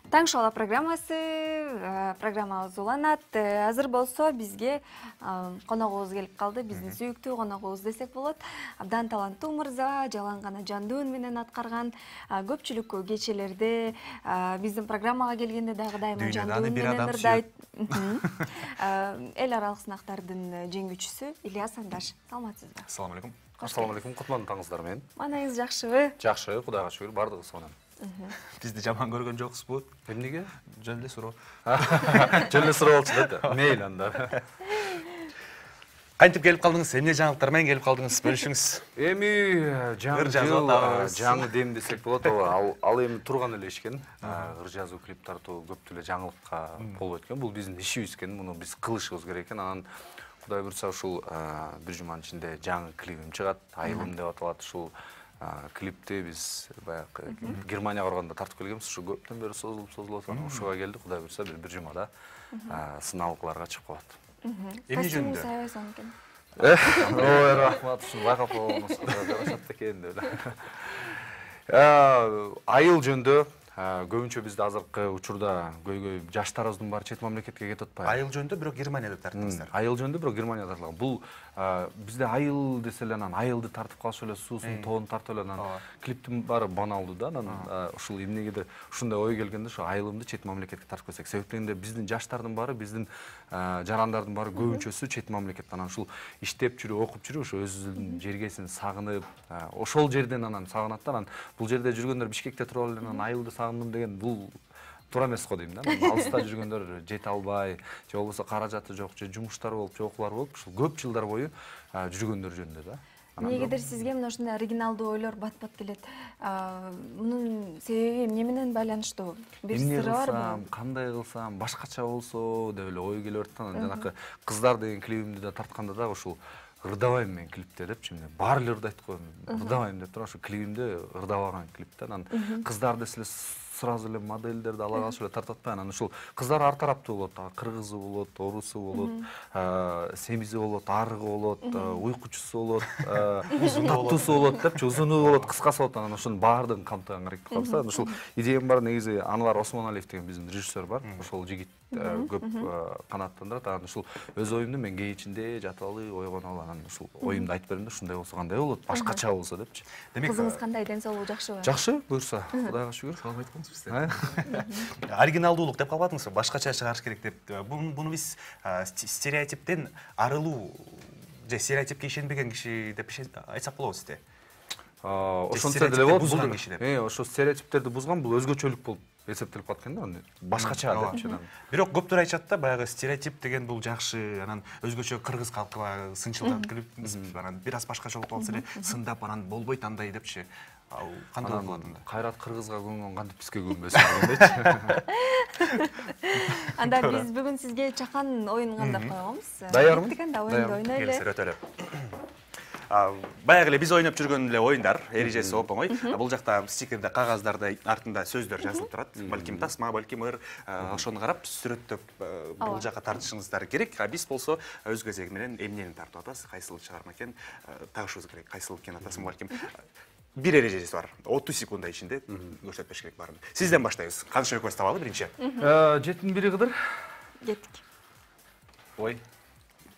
Таң шоу программабыз уланат. Азыр болсо бизге коногубуз келип калды. Биздин сүйүктүү коногубуз десек болот. Абдан таланттуу мырза, жалаң гана жандуу үн менен аткарган көпчүлүк кечелерде биздин программага келгенде дагы дайыма жандуу үн менен ырдайт. Эл аралык сынактардын жеңүүчүсү Ильяс Андаш. Саламатсызбы? Assalomu alaykum. Assalomu alaykum. Кутман таңыңыздар менен. Маанайыңыз жакшыбы? Жакшы, Кудайга шүгүр, бардыгы сонун. Бизди жаман көргөн жоксузбу? Эмнеге? Жөн эле суроо. Жөн эле суроо болчу да. Мейли анда. Кантип келип калдыңыз? Эмне жаңылыктар менен келип калдыңыз? Бөлүшүңүз. Эми жаңы дем десек болот. Ал эми турган эле иш экен. Ыр жазуу, клип тартуу көптү эле жаңылыкка болуп өткөн. Бул биздин ишибиз экен. Муну биз кылышыбыз керек экен. Анан Кудай буйрса ушул бир жуманын ичинде жаңы клипим чыгат. Айылым деп аталат. Ушул клипти биз баягы Германияга барганда тартып келгенбиз. Ушу көптөн бери созулуп атат. Ушуга келди. Кудай буйрса бир жумада сыналгыларга чыгып калат. Эмне жөнүндө? Сайбайсың экен. Ой, рахмат. Ушуну байкап койгонуңуз жарашат экен деп. Айыл жөнүндө көбүнчө бизде азыркы учурда көйгөй жаштарыбыздын баары чет мамлекетке кетип атпайбы? Айыл жөнүндө бирок Германияда тарттыңыздар. Айыл жөнүндө бирок Германияда тартылган. Бул бизде айыл десе эле анан айылды тартып калыш эле, суусун, тоонун тартып эле анан клиптин баары баналдуу да. Анан ушул эмнегедир ушундай ой келгенде ошо айылымды чет мамлекетке тартып келсек. Себеп дегенде биздин жаштардын баары, биздин жарандардын баары көбүнчөсү чет мамлекетте. Анан ушул иштеп жүрүп, окуп жүрүп, ошо өзүнүн жергесин сагынып, ошол жерден анан сагынат да. Анан бул жерде жүргөндөр Бишкекте туруп эле анан айылды сагындым деген бул туура эмес го дейм да. Алыста жүргөндөр жете албай, же болбосо каражаты жок, же жумуштары болуп, же окуулары болуп, ушул көп жылдар бою жүргөндөр жөнүндө да. Эмнегедир сизге мына ушундай оригиналдуу ойлор бат-бат келет. Мунун себеби эмне менен байланыштуу? Бир сыры барбы? Кандай кылсам, башкача болсо деп эле ой келип атат. Анан жанакы кыздар деген клибимди да тартканда дагы ушул ырдабайм мен клипте депчи, эмне баары эле ырдайт го, ырдабайм деп туруп ошо клибимде ырдабаган клип да. Анан кыздар десе эле сразу эле модельдерди ала калышып эле тартып атпайбы? Анан ушул кыздар ар тараптуу болот, кыргызы болот, орусу болот, семизи болот, арыгы болот, уйкучусу болот, таптуусу болот депчи, узуну болот, кыскасы болот. Анан ошонун баардыгын камтыганга аракет кылабыз да. Ушул идеям бар, негизи Анвар Осмоналиев деген биздин режиссер бар. Ошол жигит көп канааттандырат. Анан ушул өз оюмду мен кээ ичинде жатып алып, ойгонуп алып, анан ушул оюмду айтып бердим да, ушундай болсо кандай болот, башкача болсо депчи. Демек, кызыңыз кандай, ден соолугу жакшыбы? Жакшы, буюрса, Кудайга шүгүр. Салам айткансыз бизде. Оригиналдуулук деп калбадыңызбы? Башкача чыгарыш керек деп. Буну биз стереотиптен арылуу же стереотипке ишенбеген киши деп айтсак болобу сизде? Ошончо деле болот. Бузган киши деп. Ошо стереотиптерди бузган, бул өзгөчөлүк болуп эсептелип калат экен да. Башкача депчи. Бирок көптөр айтышат да, баягы стереотип деген бул жакшы, анан өзгөчө кыргыз калкыга сынчылдап кирип, анан бир аз башкача болуп калса эле сындап, анан болбойт андай депчи. Кандай болот анда? Кайрат кыргызга көнгөн кантип бизге көнбөсүн дегендейчи. Анда биз бүгүн сизге чакан оюн кандап койгонбуз. Даярмын. Анда оюнду ойнойлу. Келиңиздер, өтөлү. Баягы эле биз ойноп жүргөн эле оюндар, эрежеси оп-оңой. Бул жакта стикерде, кагаздарда артында сөздөр жазылып турат. Балким тасма, балким ыр, ошону карап сүрөттөп бул жака тартышыңыздар керек. Биз болсо өз кезеги менен эмнени тартып атабыз, кайсыл чыгарма экен тагышыбыз керек. Кайсыл экен атасын, балким бир эрежеси бар. 30 секунда ичинде көрсөтпөш керек баарын. Сизден баштайбыз. Каныш экөөбүз табалы биринчи. 7-ин 1 кыдыр. Кеттик. Ой.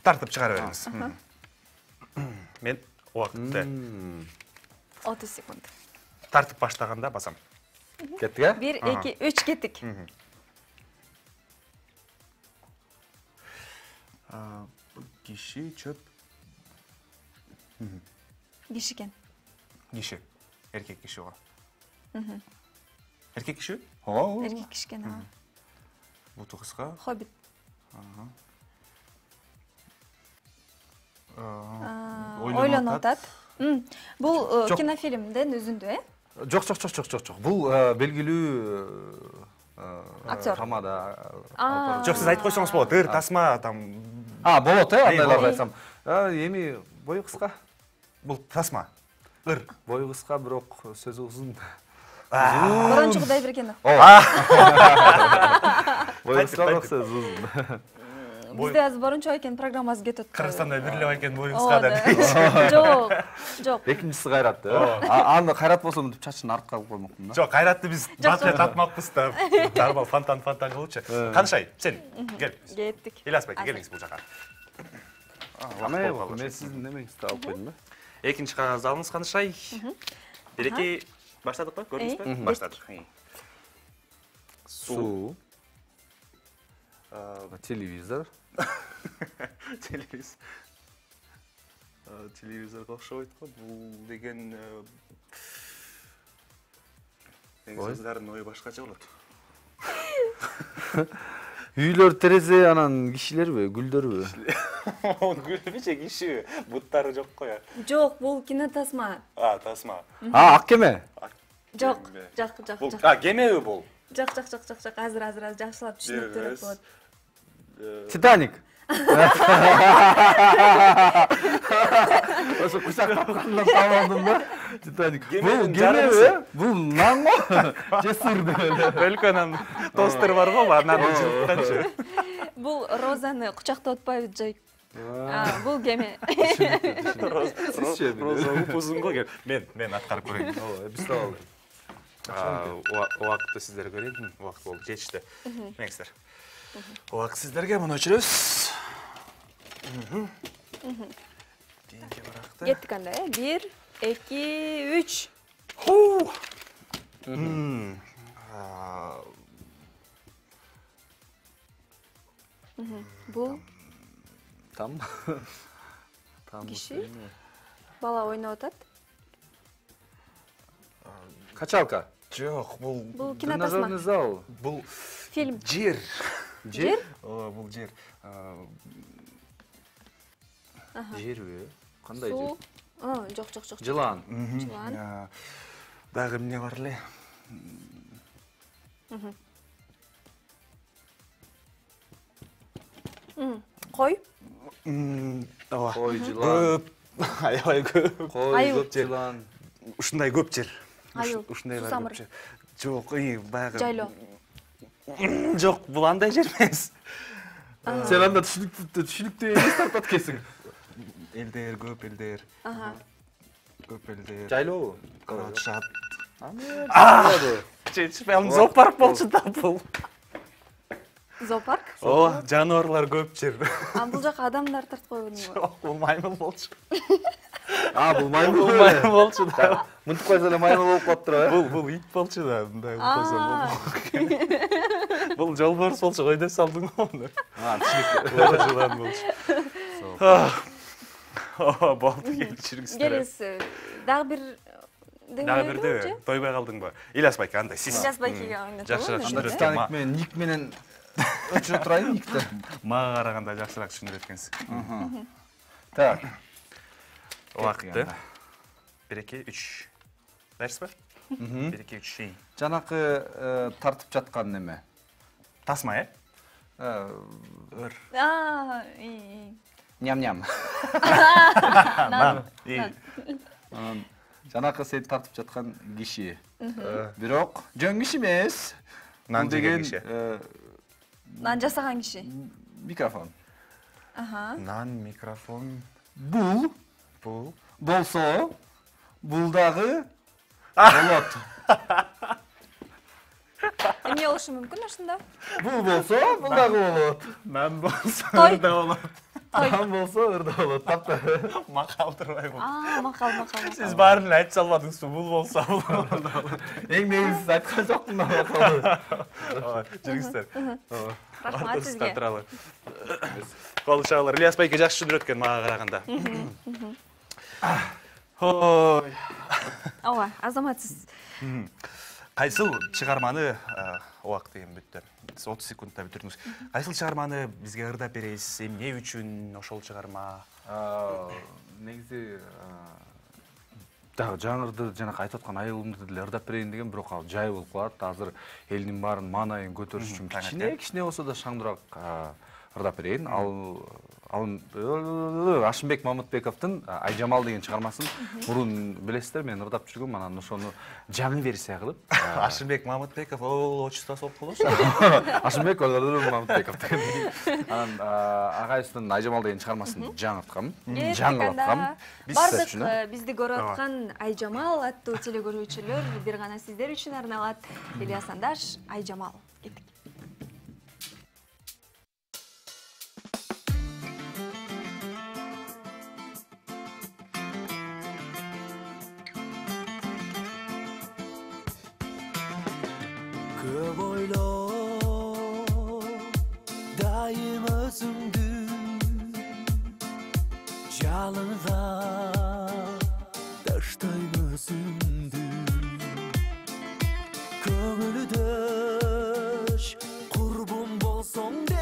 Тартып чыгара бериңиз. Мен убакытты 30 секунд. Тартып баштаганда басам. Кеттик, а? 1, 2, 3 кеттик. Киши, чөп. Киши экен. Киши. Эркек киши го. Эркек киши? Эркек киши экен. Буту кыска. Хоббит. Ойлонуп атат. Бул кинофильмден үзүндү, Жок. Бул белгилүү актер. Тамада. Жок, сиз айтып койсоңуз болот. Ыр, тасма, там. Болот, андайларды айтсам. Эми бою кыска. Бул тасма. Ыр. Бою кыска, бирок сөзү узун. Борончу Кудайбергенов. Бою кыска, бирок сөзү узун. бизде азыр борончо экен программабыз кетип атат. Кыргызстанда бир эле экен боюңузга деп. Жок, жок. Экинчиси Кайратты. Аны Кайрат болсо мынтип чачын артка алып коймокмун да. Жок, Кайратты биз батча тапмакпыз да. Нормал фонтан кылычы. Канышай, сен кел. Кеттик. Ильяс байке, келиңиз бул жака. Мен сиздин немеңизди алып койдум да. Экинчи кагазды алыңыз, Канышай. Береке, баштадыкпы? Көрдүңүзбү? Баштадык. Суу. Телевизор. Телевизорго окшобойт го. Бул деген Кыздардын ою башкача болот. Үйлөр терезе анан кишилерби, гүлдөрбү? Гүлбү же кишиби? Буттары жок го я. Жок, бул кинотасма. Тасма. Ак кеме. Жок, жок. Кемеби бул? Жок. Азыр жакшылап түшүнүп көрөт болот. Титаник. Ошо кучак тапкандан табалдым да. Титаник. Бул кемеби? Бул нан го? Же сыр деп эле. Өлкөнөн тостер бар го, анан жылытканчы. Бул розаны кучактап атпайбы жай? Бул кеме. Роза упузун го. Мен аткарып көрөйүн. Биз табалы. Убакытты сиздер көрейин. Убакыт болуп жетишти. Меңиздер. Убакыт сиздерге муну өчүрөбүз. Кийинки баракта. Кеттик анда, 1, 2, 3. Бул Там. киши бала ойноп атат. Качалка. Жок, бул Кинотасма. Зал. бул Фильм. жер. Жер? Бул жер. Жерби? Кандай жер? Суу. Жок. Жылан. Жылан. Дагы эмне бар эле? Кой. Ооба. Кой, жылан. Аябай көп. Кой, көп жылан. Ушундай көп жер. Айыл. Ушундай бар Сусамыр. көп жер. Жок, баягы. Жайлоо. Жок, бул андай жер эмес. Сен анда түшүнүктүү эмес тартат экенсиң. Элдер көп, элдер. Көп элдер. Жайлообу? Карачат. Аны. Жетишпей алам, зоопарк болчу да бул. Зоопарк? Ооба, жаныбарлар көп жер. Бул жака адамдар тартып койбодуңбу? Жок, бул маймыл болчу. Бул маймыл. Бул маймыл болчу да. Мынтип койсо эле маймыл болуп калыптыр э? Бул ит болчу да, мындай койсо. Бул жолборс болчу, койдо салдың го муну. Түшүнүктүү. Жылан болчу. Болду, кечириңиздер. Келиңиз, дагы бир бирди, тойбой калдыңбы? Ильяс байке, андай сиз. Ильяс байкеге ойнотолу. Жакшыраак Анда түшүндүрөт. Титаник менен ник менен өчүрө турайын никти. Мага караганда жакшыраак түшүндүрөт экенсиң. Так. Убакытты. 1, 2, 3. Дайырсызбы? 1, 2, 3. Жанакы тартып жаткан неме. Тасма, э? Өр. Ням-ням. Жанакы сен тартып жаткан киши. Бирок жөн киши эмес. Нан жеген киши. Нан жасаган киши. Микрофон. Нан, микрофон. Бул Бул. болсо, бул дагы болот. Эмне болушу мүмкүн ошондо? Бул болсо, бул дагы болот. Нан болсо, Той. ырда болот. Нан болсо, ырда болот. Тапты. Макалтырбай бул. Макал. Сиз баарын айтып салбадыңызбы? Бул болсо, бул болот. Эң негизгиси айткан жокмун да. Жүрүңүздөр. Рахмат сизге. Туралы. Кол чабалар. Ильяс байке жакшы түшүндүрөт экен мага караганда. Ой. Ооба, азамат сиз. Кайсыл чыгарманы убакыт деген бүттү. 30 секундта бүтүрдүңүз. Кайсыл чыгарманы бизге ырдап бересиз? Эмне үчүн ошол чыгарма? Негизи дагы жаңырды жанакы айтып аткан айылымды деле ырдап берейин деген, бирок ал жай болуп калат. Азыр элдин баарын маанайын көтөрүш үчүн кичине болсо да шаңдыраак ырдап берейин. Ал Ашымбек Мамытбековдун Айжамал деген чыгармасын мурун билесиздер, мен ырдап жүргөм, анан ошону жаңы версия кылып. Ашымбек Мамытбеков отчествосу болуп калбашы. Ашымбек Мамытбеков деген. Анан агайыбыздын Айжамал деген чыгармасын жаңырткам, жаңылаткам. Бардык бизди көрүп аткан Айжамал аттуу телекөрүүчүлөр бир гана сиздер үчүн арналат. Ильяс Андаш, Айжамал. Кеттик. Көп ойло дайым өзүңдү жалынга таштайм өзүмдү көңүлдөш курбум болсоң де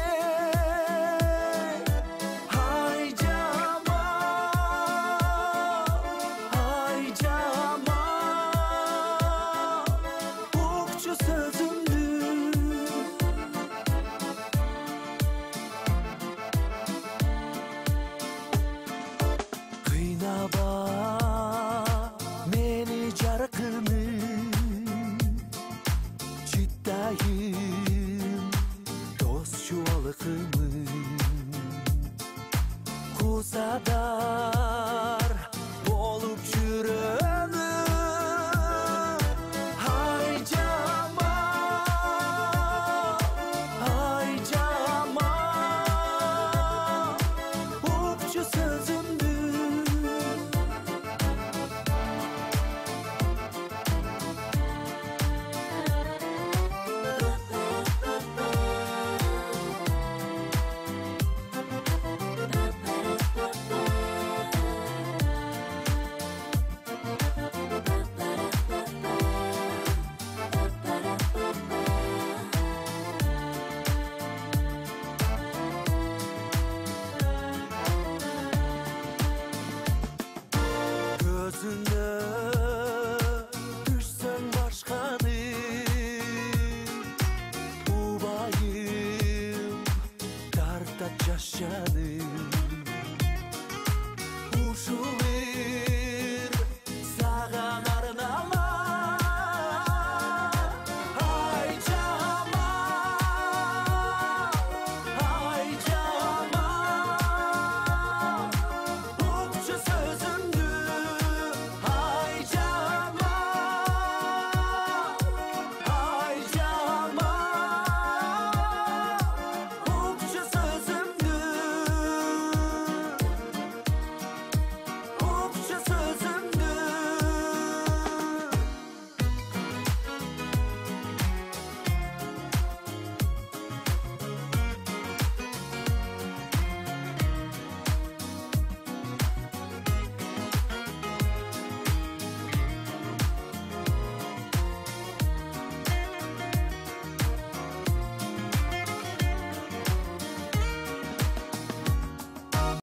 укчу сөзүмдү кыйнаба мени жаркыным чыттайым дос чубалыкымын кусада